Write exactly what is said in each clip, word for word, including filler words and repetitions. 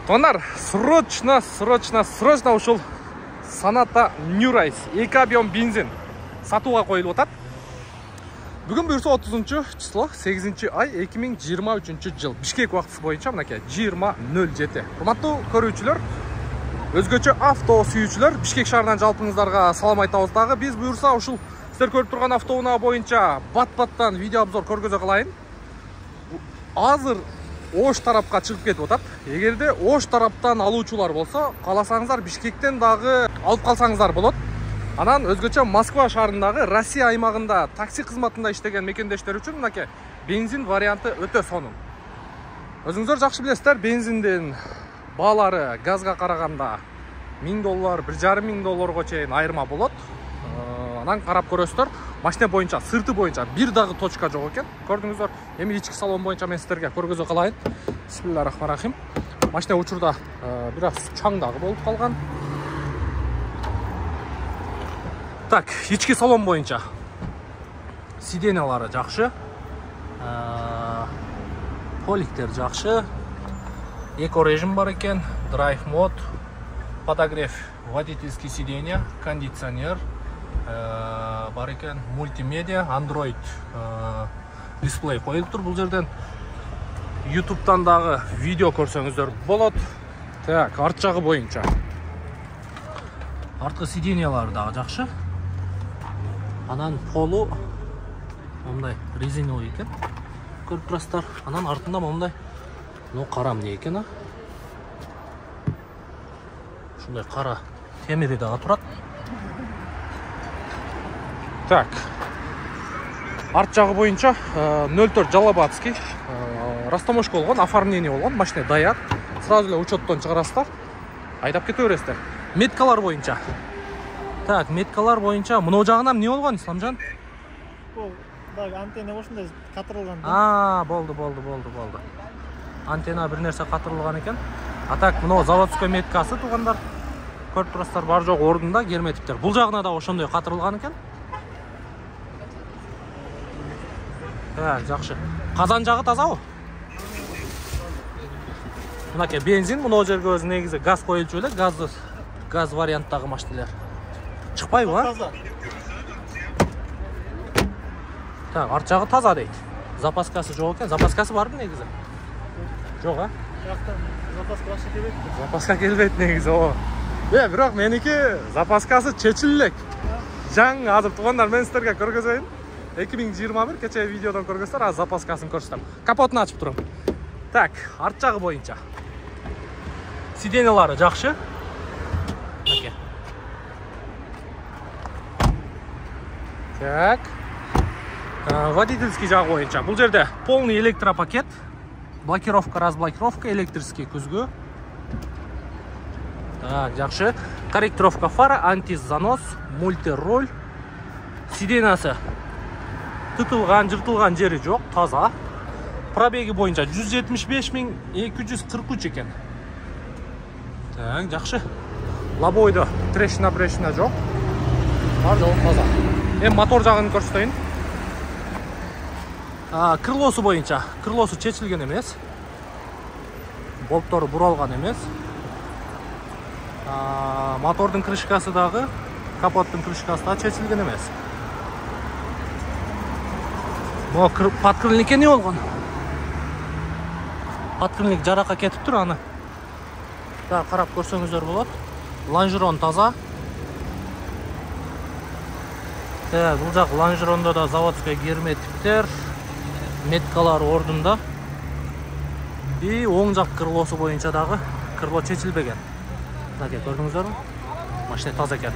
Тонар, срочно, срочно, срочно ушул Sonata New Rise эки объем бензин сатууга коюлуп атат. Бүгүн буюрса отузунчу число сегизинчи ай эки миң жыйырма үчүнчү жыл Бишкек убактысы боюнча мынакей жыйырма нөл жети. Урматтуу көрүүчүлөр, өзгөчө авто сүйүүчүлөр, Бишкек шаарынан жалпыңыздарга салам айтабыз дагы. Биз буюрса ушул сиздер көрүп турган автоунаа боюнча бат-баттан видео обзор көргөзө калайын. Азыр Ош тарапка чыгып кетип атат. Эгерде Ош тараптан алуучулар болсо, кааласаңыздар Бишкектен дагы алып калсаңыздар болот. Анан өзгөчө Москва шаарындагы Россия аймагында такси кызматында иштеген мекендештер үчүн мынакей бензин варианты өтө сонун. Өзүңүздөр жакшы билесиздер, бензиндин баалары газга караганда миң доллар, бир жарым миң долларга чейин айырма болот. Анан карап көрөсүздөр, машина боюнча, сырты боюнча бир дагы точка жок экен. Көрдүңүздөр, эми ички салон боюнча мен сиздерге көргөзө калайын. Бисмиллахиррахманиррахим. Машина учурда бир аз чаң дагы болуп калган. Так, ички салон боюнча сиденьялары жакшы, поликтер жакшы, эко режим бар экен, драйв мод, подогрев водительский сиденья, кондиционер бар экен, мультимедиа, Android дисплей коюлуп тур. Бул жерден ютубтан дагы видео көрсөңүздөр болот. Так, арт жагы боюнча арткы сиденьялары дагы жакшы. Анан полу мындай резиновый экен. Көрүп турасыздар. Анан артында мындай, ну кара эмне экен а? Ушундай кара темири дагы турат. Так. Арт жагы боюнча нөл төрт Жалабатский растаможка болгон, оформление болгон, машина даяр. Сразу эле учеттон чыгарасыздар. Айдап кете бересиздер. Меткалар боюнча. Так, меткалар боюнча мына жагына эмне болгон, Исламжан? Бул дагы антенна ушундай катырылган. А, болду, болду, болду, болду. Антенна бир нерсе катырылган экен. А так, мына заводской меткасы туугандар. Көрүп турасыздар, бар жок ордунда герметиптер. Бул жагына да ошондой катырылган экен. Так, жакшы. Казан жагы тазабы? Мынакей бензин, мына жерге өзү негизи газ коюлчу эле, газды газ варианттагы машиналар. Чыкпайбы, а? Таза. Так, арт жагы таза дейт. Запаскасы жок экен. Запаскасы барбы негизи? Жок, а? Жактан запаска башы келбейт. Запаска келбейт негизи, о. Э, бирок меники запаскасы чечил элек. Жаңы азыр туугандар, мен сиздерге көргөзөйүн. эки миң жыйырма бир кече видеодон көргөзсөөр, азыр запаскасын көрсөтөм. Капотун ачып турам. Так, арт жагы боюнча сиденьялары жакшы. Мынакей. Так. Водительский жагы боюнча бул жерде полный электропакет, блокировка, разблокировка, электрический күзгү. Так, жакшы. Корректировка фара, антизанос, мультироль. Сиденьясы тытылган, жыртылган жери жок, таза. Пробеги боюнча жүз жетимиш беш миң эки жүз кырк үч экен. Так, жакшы. Лобойдо трещина-брешина жок. Бар жок, таза. Эми мотор жагын көрсөтөйүн. А, крылосу боюнча, крылосу чечилген эмес. Болттору буралган эмес. А, мотордун крышкасы дагы, капоттун крышкасы да чечилген эмес. Бу подкрылникке эмне болгон? Подкрылник жаракка кетип тур аны. Так, карап көрсөңүздөр болот. Лонжерон таза. Так, бул жак лонжерондо да заводской герметиптер, меткалар ордунда. И оң жак крылосу боюнча дагы крыло чечилбеген. Мынакей көрдүңүздөрбү? Машина таза экен.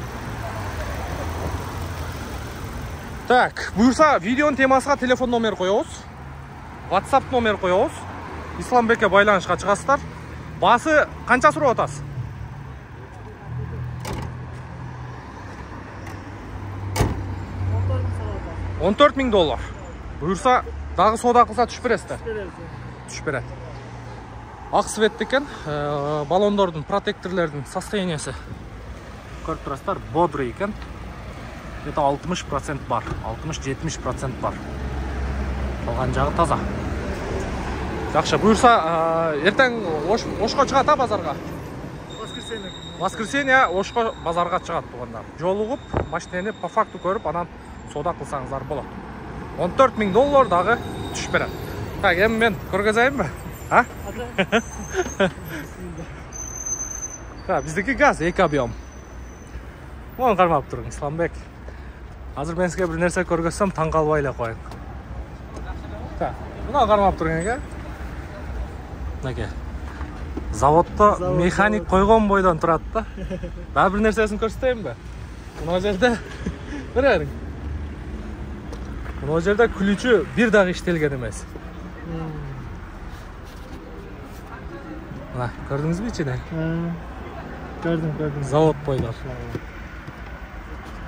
Так, буюрса видеонун темасына телефон номер коебуз. WhatsApp номер коебуз. Исламбекке байланышка чыгасыздар. Басы канча сурап атасыз? он төрт миң доллар. Буюрса дагы соода кылса түшүп бересиздер. Түшүп берет. Ак свет экен, баллондордун, протекторлордун состояниясы көрүп турасыздар, бодрый экен. Где-то алтымыш процент бар, алтымыш жетимиш процент бар. Калган жагы таза. Жакшы, буюрса эртең Ошко чыгат а базарга? Воскресенье. Воскресенье Ошко базарга чыгат туугандар. Жолугуп, машинени по факту көрүп, анан соода кылсаңыздар болот. он төрт миң доллар дагы түшүп берет. Так, эми мен көргөзөйүнбү? А? Та, биздики газ эки объем. Муну кармап туруң, Исламбек. Азыр мен сизге бир нерсе көргөзсөм, таң калбай эле коеюн. Та, муну кармап туруң эке. Мынакей. Заводто механик койгон бойдон турат да. Дагы бир нерсесин көрсөтөйүнбү? Мына жерде бериң. Мына жерде күлүчү бир дагы иштелген эмес. Мына, көрдүңүзбү ичине? Көрдүм, көрдүм. Завод бойдон.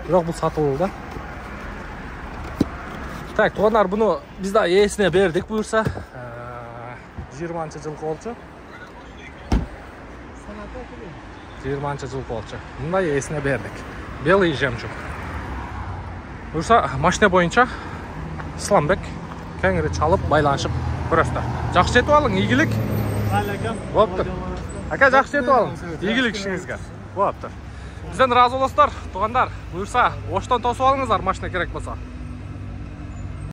Бирок бул сатылуу да. Так, туугандар, буну биз да ээсине бердик буюрса. жыйырманчы жылкы болчу. жыйырманчы жылкы болчу. Мындай ээсине бердик. Белый жемчуг. Буюрса, машина боюнча Исламбек кеңири чалып байланышып көрөсүздөр. Жакшы жетип алың, ийгилик. Болуптур. Ака, жакшы жетип алың. Ийгилик ишиңизге. Болуптур. Бизден ыраазы болосуздар, туугандар. Буюрса, Оштон тосуп алыңыздар, машина керек болсо.